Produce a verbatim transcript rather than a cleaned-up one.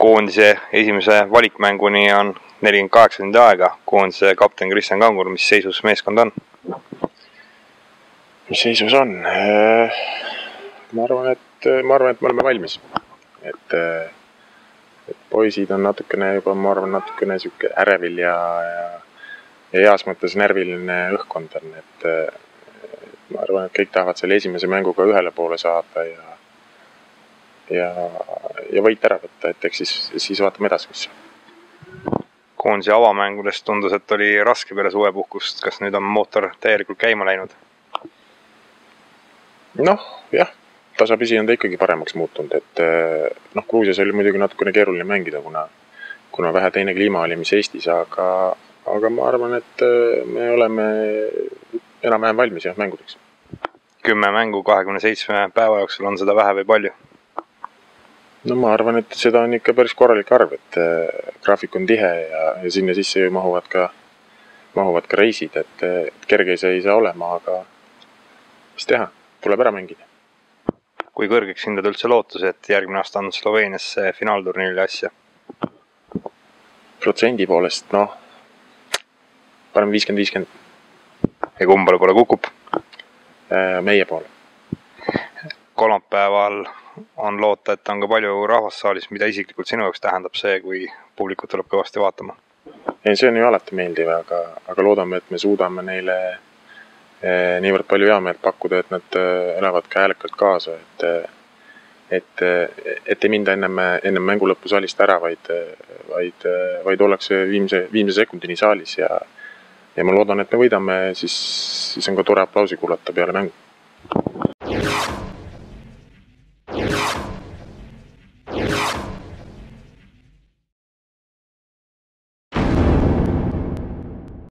koondise esimese valikmänguni on nelikümmend kaheksa tundi aega. Koondise kapten Kristjan Kangur, mis seisus meeskond on? Mis seisus on? Ma arvan, et, ma arvan, et me oleme valmis. Et, et poisid on natukene juba, ma arvan, natukene siuke ärevil ja, ja, ja heas mõttes närviline õhkkond on. Et, et ma arvan, et kõik tahavad selle esimese mänguga ühele poole saada ja ja, ja võit ära võtta, et eks siis, siis vaatame edasi, mis. Koondise avamängudest tundus, et oli raske peale suvepuhkust. Kas nüüd on mootor täielikult käima läinud? Noh, jah, tasapisi on ta ikkagi paremaks muutunud, et noh, Gruusias oli muidugi natukene keeruline mängida, kuna, kuna vähe teine kliima oli, mis Eestis, aga, aga ma arvan, et me oleme enam-vähem valmis jah, mängudeks. Kümme mängu kahekümne seitsme päeva jooksul, on seda vähe või palju? No ma arvan, et seda on ikka päris korralik arv, et graafik on tihe ja, ja sinna sisse ju mahuvad ka, mahuvad ka reisid, et, et kerge see ei saa olema, aga mis teha, tuleb ära mängida. Kui kõrgeks hindad üldse lootus, et järgmine aasta on Sloveenias finaalturniili asja? Protsendi poolest, noh, parem viiskümmend viiskümmend. Ja kumbale poole kukub? Meie poole. Kolmapäeval on loota, et on ka palju rahvassaalis, mida isiklikult sinu jaoks tähendab see, kui publikut tuleb kõvasti vaatama? Ei, see on ju alati meeldiv, aga, aga loodame, et me suudame neile niivõrd palju heameelt pakkuda, et nad elavad ka häälekalt kaasa, et, et, et ei minda ennem, ennem mängu lõppu saalist ära, vaid, vaid, vaid ollakse viimse, viimse sekundini saalis ja, ja ma loodan, et me võidame, siis, siis on ka tore aplausi kuulata peale mängu.